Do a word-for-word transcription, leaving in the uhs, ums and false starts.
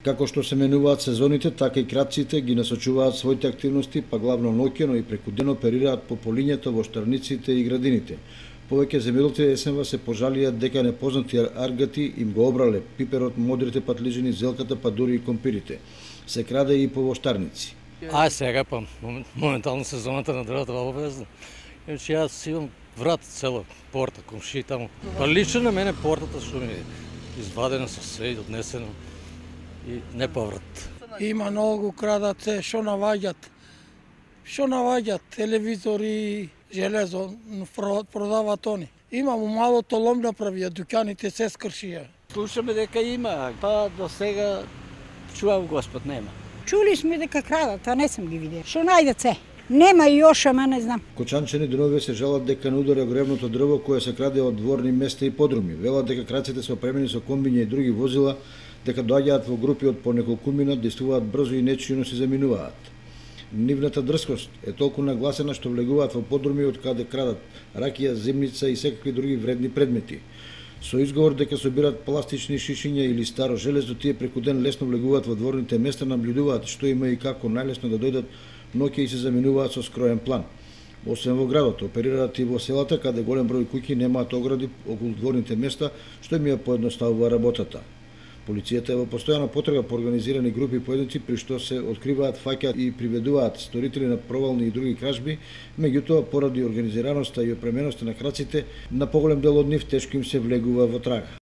Како што се менуваат сезоните, така и крадците ги насочуваат своите активности, па главно ноќно и преку ден оперираат по полињето во штарниците и градините. Повеќе земјоделци есенва се пожалија дека непознати аргати им го обрале пиперот, модрите патлижини, зелката, па дури и компирите. Се краде и по воштарници. А сега па моментално сезоната на дрвата во обезна. Иначе јас имам врат цела порта, комши таму. Па лично на мене портата што ми е извадена со се и однесено и не поврат. Има многу крадат се, што наваѓат. Што наваѓат, телевизори, железо, продават они. Имам малото лом направија, дуќаните се скршија. Слушаме дека има, па до сега чувам Господ нема. Чули сме дека крадат, а не сам ги видел. Што најдат се? Нема и још, ама не знам. Кочанчани деновиве се жалат дека не удара гревното дрво кое се краде од дворни места и подруми. Велат дека крадците се опремени со комбиња и други возила, дека доаѓаат во групи од по неколкумина, действуваат брзо и нечујно се заминуваат. Нивната дрскост е толку нагласена што влегуваат во подруми од каде крадат ракија, земница и секакви други вредни предмети. Со изговор дека собираат пластични шишиња или старо железо, тие преку ден лесно влегуваат во дворните места, наблюдуваат што има и како најлесно да дојдат ноќе и се заминуваат со скроен план. Освен во градот, оперираат и во селата, каде голем број куќи немаат огради околу дворните места, што им ја поедноставува работата. Полицијата е во постојана потрага по организирани групи поединци, при што се откриваат, фаќаат и приведуваат сторители на провални и други кражби, меѓутоа поради организираноста и опременоста на краците, на поголем дел од нив тешко им се влегува во трага.